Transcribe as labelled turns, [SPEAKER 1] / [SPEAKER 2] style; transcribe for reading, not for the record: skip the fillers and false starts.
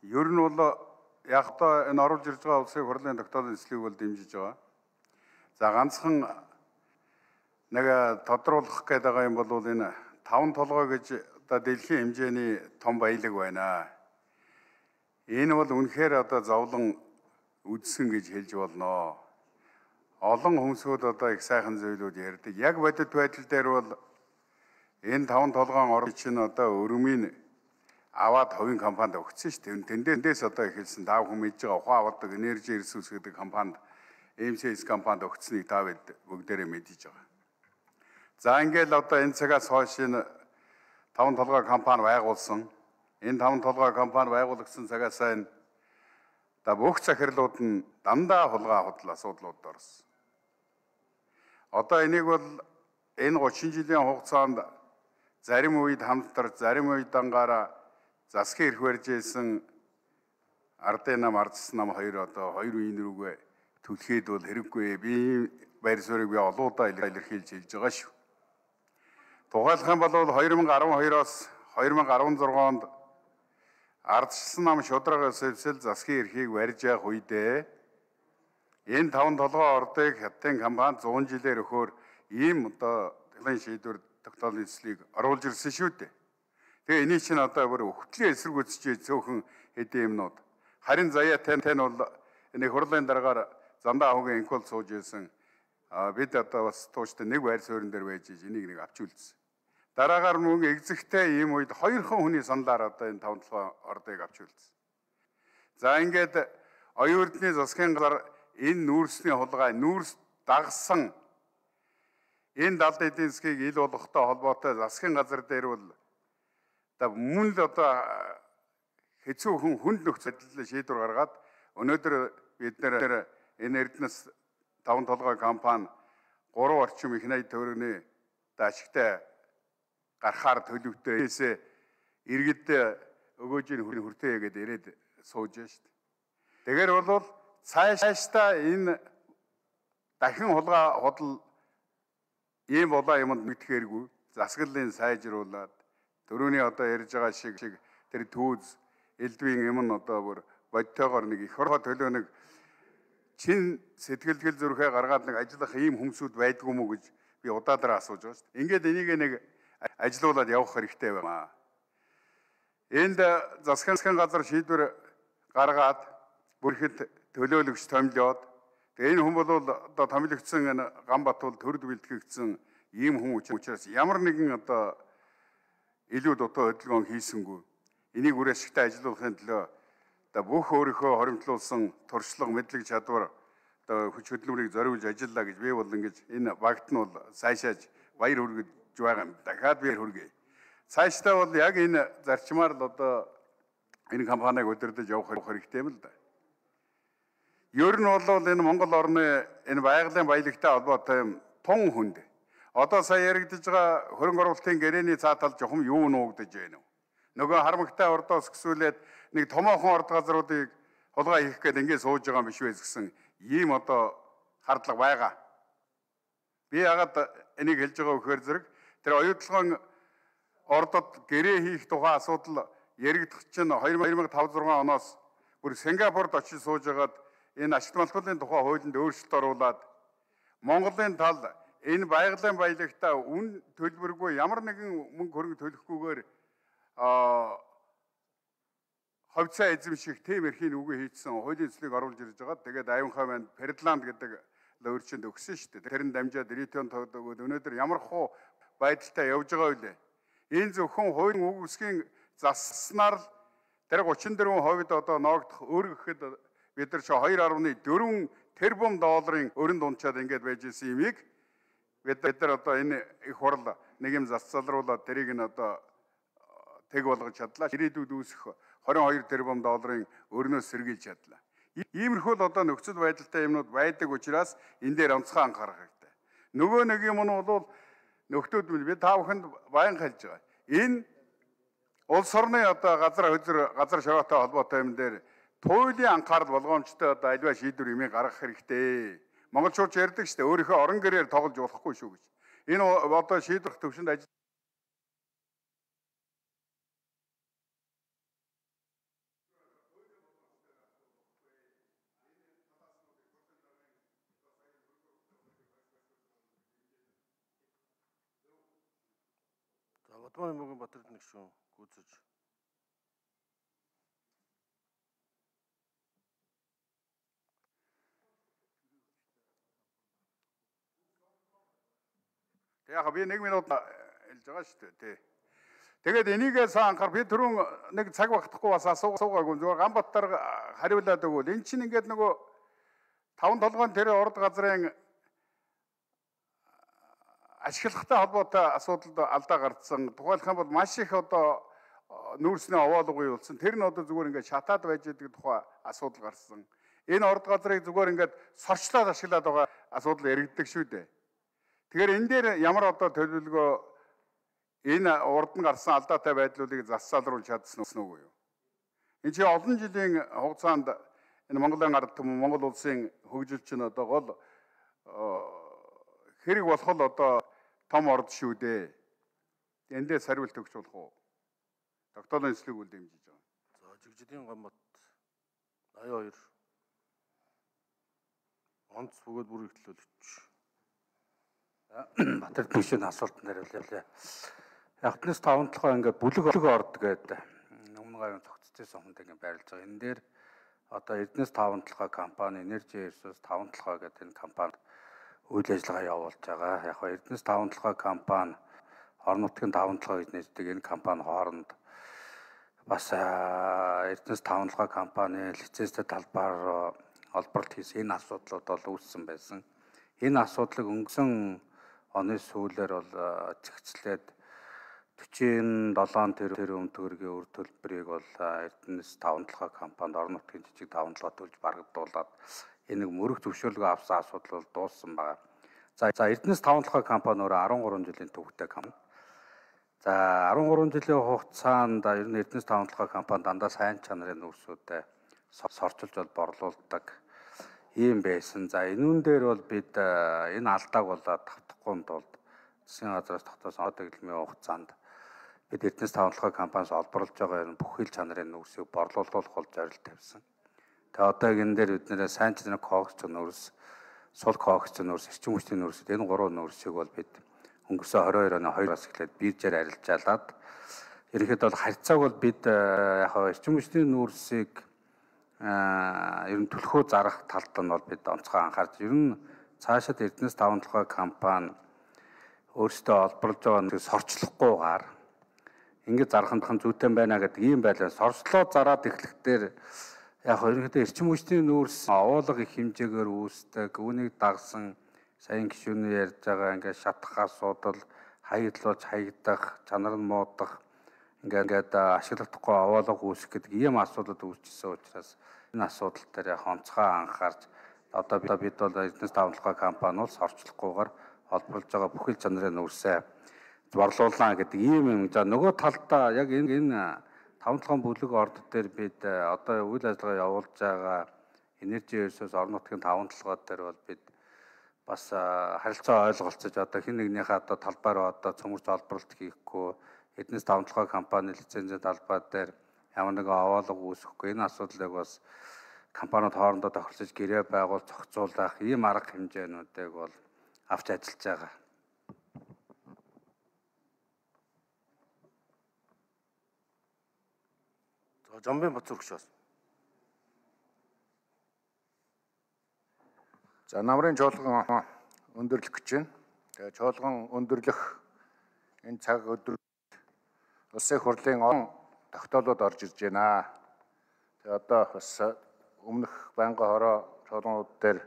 [SPEAKER 1] Ер нь бол яг та энэ оруулж ирж байгаа улсын хурлын тогтоолын эслийг бол дэмжиж байгаа. За ганцхан нэг тодруулах гээд байгаа юм бол энэ 5 толгой гэж одоо дэлхийн хэмжээний том баялаг байна. Энэ бол үнэхээр одоо зовлон үдсэн гэж хэлж болно. Олон хүмүүсүүд одоо их сайхан зүйлүүд ярьдаг. Яг бодит байдал дээр бол энэ 5 толгойн орн чинь одоо өрөмийн аваад хувийн компанид өгсөн шүү дээ. Тэндээс одоо эхэлсэн тав хүн мэдж байгаа ухаан авдаг Energy Resources гэдэг компанид MCS компанид өгцнийг та бүгдээрээ мэдж байгаа. За ингээл одоо энэ цагаас хойш энэ 5 толгой компани байгуулсан. Энэ 5 толгой компани байгуулагдсан цагаас энэ бүх захирлууд нь дандаа хулгай худал асуудлууд орсон. Одоо энийг бол энэ 30 жилийн хугацаанд зарим үед хамтар, зарим үед дангаараа засгийн эрх барьж ийсэн ардын нам, ардс нам хоёр одоо хоёр үеийн рүүгээ түлхээд бол хэрэггүй. Би байр суурийг би олоодаа илэрхийлж хэлж байгаа шүү. Тухайлах юм бол 2012-оос 2016 онд ардчилсан нам шударгаас эвсэл засгийн эрхийг барьж явах үедээ энэ 5 толгой ордыг хятадын компани 100 жилээр өгөхөөр ийм одоо технологийн шийдвэр тогтоолын эслийг оруулж ирсэн шүү дээ. Тэгээ энийг чинь одоо бүр өвхтлийн эсрэгүүцэж цөөхөн хэдийн юмнууд. Харин заяа тань бол энэ хурлын дараагаар зандаа ahoгийн инкол сууж ирсэн. Бид одоо бас тууштай нэг байр суурин дээр байж энийг нэг авч үлдсэн. Дараагаар мөн экзэгтэй ийм үед 2 хүний саналаар одоо энэ 5 толгой ордыг авч үлдсэн. За ингээд оюун эрдэнэ засгийн газар энэ нүүрсний хулгай нүүрс дагсан энэ далд эдийн засгийг ил болгохтой холбоотой засгийн газар дээр бол мөн л одоо хэцүү хүнд нөхцөл шийдвэр гаргаад өнөөдөр бид нэр энэ эрдэнэс 5 толгой компани 3 орчим их найд төгрөгийн ашигтай гарахаар төлөвтэй иргэд өгөөжийн хүртээ гэдэг ирээд сууж байна шүү дээ. Тэгэхээр бол цаашдаа энэ дахин хулгай худал ийм болоо юмд мэдхээргүй засаглалын сайжруулад төрөний одоо ярьж байгаа шиг тэр түүз элдвийн юм нь одоо бүр бодтойгоор нэг их хорхоо төлөө нэг чин сэтгэлгэл зүрхээ гаргаад нэг ажиллах ийм хүмүүсүүд байдгүй мүү гэж би удаадраа асууж байгаа шүү дээ. Ингээд энийг нэг ажилуулад явах хэрэгтэй байна. Энд засгийн газар шийдвэр гаргаад бүрхэд төлөөлөгч томилоод тэгээ энэ хүн бол одоо томилогдсон энэ Ганбатул төрд бэлтгэгдсэн ийм хүн учраас ямар нэгэн одоо илүү дутуу хөдөлгөөн хийсэнгүй. Энийг үр ашигтай ажилуулахын төлөө одоо бүх өөрийнхөө хоримтлуулсан туршлага, мэдлэг чадвар одоо хүч хөдөлмөрийг зориулж ажиллаа гэж би бол ингэж энэ багт нь бол сайшааж баяр хүргэж байгаа юм. Дахиад баяр хүргэе. Цаашдаа бол яг энэ зарчмаар л одоо энэ компанийг удирдах явах хэрэгтэй юм л да. Ер нь бол энэ Монгол орны энэ байгалийн баялагтай холбоотой юм тун хүнд. Одоо сая яригдж байгаа хөрөнгө оруулалтын гэрээний цаатал жохом юу нуугдаж байна вэ? Нөгөө харамгтай ордоос гисүүлээд нэг томоохон орд газруудыг хулгай хийх гээд ингэ сууж байгаа юм биш вэ гэсэн ийм одоо хардлага байгаа. Би ягаад энийг хэлж байгаа вэхээр зэрэг тэр оюутлогын ордод гэрээ хийх тухай асуудал яригдах чинь 2005-6 оноос бүр Сингапурд очиж сууж байгаад энэ ашигт малхуулын тухай хуулинд өөрчлөлт оруулад Монголын тал энэ байгалийн баялагтаа үн төлбөргүй ямар нэгэн мөнгө хөрөнгө төлөхгүйгээр ховцоо эзэмших тийм эрхийн үгээ хийцсэн хуулийн эслийг оруулж ирж байгаа. Тэгээд аюунхай маань Фердланд гэдэг өөрчөнд өгсөн шүү дээ. Тэрэн дамжаад ритен тогтоогод өнөөдөр ямар хуу байдалтай явж байгаа вэ? Энэ зөвхөн хуулийн үг үсгийн заснаар л тэр 34% одоо ноогдох өөр гэхэд бид нар ч 2.4 тэрбум долларын өрөнд унчаад ингэж байж исэн юмыг бид нар одоо энэ их хурл нэг юм засалруулаад тэрийг нь одоо тэг болгож чадлаа. Ирээдүйд үүсэх 22 тэрбум долларын өрнөөс сэргийлж чадлаа. Иймэрхүү л одоо нөхцөл байдалтай юмнууд байдаг учраас энэ дээр онцгой анхаарах хэрэгтэй. Нөгөө нэг юм нь бол нөхдүүд би та бүхэнд баян хэлж байгаа. Энэ улс орны одоо газар шороотой холбоотой юм дээр туйлын анхаарал болгоомжтой одоо альва шийдвэр юмыг гаргах хэрэгтэй. Монголчууд ярьдаг шүү дээ. Өөрийнхөө орон гэрээр тоглож болохгүй шүү гэж. Энэ одоо шийдвэр төвшөнд
[SPEAKER 2] Бадмын мөгийн Батэрд нэг шүү гүйцэж.
[SPEAKER 1] Яг би 1 минут хэлж байгаа шүү дээ тий. Тэгээд энийгээс анхаар би түрүүн нэг цаг багтахгүй бас асуугаагүй зүгээр Ганбаттар хариулаад өгвөл эн чинь ингээд нөгөө 5 толгойн тэр урд газрын ашиглахтай холбоотой асуудалд алдаа гарцсан. Тухайлх юм бол маш их одоо нүүрсний овоолго юулсан. Тэр нь одоо зүгээр ингээд шатаад байж байгаа тухай асуудал гарсан. Энэ урд газрыг зүгээр ингээд сорчлоод ашиглаад байгаа асуудал яригддаг шүү дээ. Тэгэхээр энэ дээр ямар одоо төлөвлөгөө энэ урд нь гарсан алдаатай байдлуудыг зассаалруулж чадсан уу юу? Энэ чинь олон жилийн хугацаанд энэ Монголын ард түмэн Монгол улсын хөгжил чинь одоо гол хэрэг болох л одоо том орд шүү дээ. Эндээс хариулт өгч болох уу? Тогтоолын эслэг үл дэмжиж байгаа.
[SPEAKER 2] За Жигжидийн Ганбат 82 онц бөгөөд бүр ихтлүүлж.
[SPEAKER 3] Батэр төвшин асуултанд хариулъя. Ягтнаас 5 толгой ингээд бүлэг орд гэдэг өмнө гарын цогцолжсэн хүнд ингээд байрлаж байгаа. Энэ дээр одоо Эрдэнэс 5 толгой компани, Energy Resource 5 толгой гэдэг энэ компани үйл ажиллагаа явуулж байгаа. Яг нь Эрдэнэс 5 толгой компани, орон нутгийн 5 толгой гэж нэрлэдэг энэ компани хооронд бас Эрдэнэс 5 толгой компани лицензтэй талбаар олборлт хийсэн энэ асуудлууд бол үүссэн байсан. Энэ асуудлыг өнгөрсөн оны сүүлээр бол зэгцлээд 47 тэрбум төгрөгийн үр төлбөрийг бол Эрдэнэс 5 толгой компанид орон нутгийн жижиг 5 толгой төлж барагдуулаад энэ нэг мөрөх зөвшөөрлөгөө авсан асуудал бол дууссан байна. За Эрдэнэс 5 толгой компани өөрөө 13 жилийн төвхтэй компани. За 13 жилийн хугацаанд ер нь Эрдэнэс 5 толгой компани дандаа сайн чанарын нүүрсүүдэд сорчилж бол борлуулдаг ийм байсан. За энүүн дээр бол бид энэ алдааг бол давтахгүй тулд засгийн газраас тогтоосон одоо гэлмийн хугацаанд бид Эрдэнэс 5 толгой компаниас олборлож байгаа энэ бүх хил чанарын нүүрсийг борлуулах бол зорилт тавьсан. Тэгээ одоо энэ дээр бид нэр сайн чанарын коогч нүүрс, сул коогч нүүрс, эрчим хүчний нүүрсүүд энэ гурван нүүрсийг бол бид өнгөрсөн 22 оны 2-аас эхлээд биржээр арилжаалаад ерөнхийдөө бол харьцааг бол бид яг эрчим хүчний нүүрсийг ер нь төлхөө зарах талд нь бол бид онцгой анхаарч ер нь цаашид Эрдэнэс 5 толгой компани өөрсдөө олборлож байгаа нэг сорчлохгүйгээр ингэж зарах нь зүйтэй байна гэдэг ийм байлаа. Сорчлоо зараад эхлэхдээ яг ерөнхийдөө эрчим хүчний нүүрс овоолго их хэмжээгээр үүсдэг. Үүнийг дагсан саяхан гишүүний ярьж байгаа ингээд шатах асуудал, хаягдлуулж хаягдах, чанар нь муудах ингээд ашиглахдаггүй овоолго үүсэх гэдэг ийм асуудал үүсчихсэн учраас энэ асуудал дээр яг онцгой анхаарч одоо бид бол Эрдэнэс 5 толгой компани бол сорчлохгүйгээр олборлож байгаа бүхэл чанарын нүүрсээ борлуулна гэдэг ийм юм. За нөгөө талдаа яг энэ 5 толгойн бүлэг орд дээр бид одоо үйл ажиллагаа явуулж байгаа Energy Resource орон нутгийн 5 толгой дээр бол бид бас харилцаа ойлголцож одоо хэн нэгнийхээ одоо талбаар одоо цөмөрч олборлолт хийхгүй Эрдэнэс 5 толгой компани лицензийн талбай дээр ямар нэгэн овоолго үүсэхгүй энэ асуудлыг бас компаниуд хоорондоо тохиролцож гэрээ байгуул зохицуулах ийм арга хэмжээнүүдийг бол авч ажиллаж байгаа.
[SPEAKER 2] За Жамбын Бацүргч бас.
[SPEAKER 4] За намрын чуулган өндөрлөх гэж байна. Тэгээ чуулган өндөрлөх энэ цаг өдөр улсын хурлын он тогтоолууд орж ирж байна. Тэгээ одоо бас өмнөх байнгын хороо чуулганууд дээр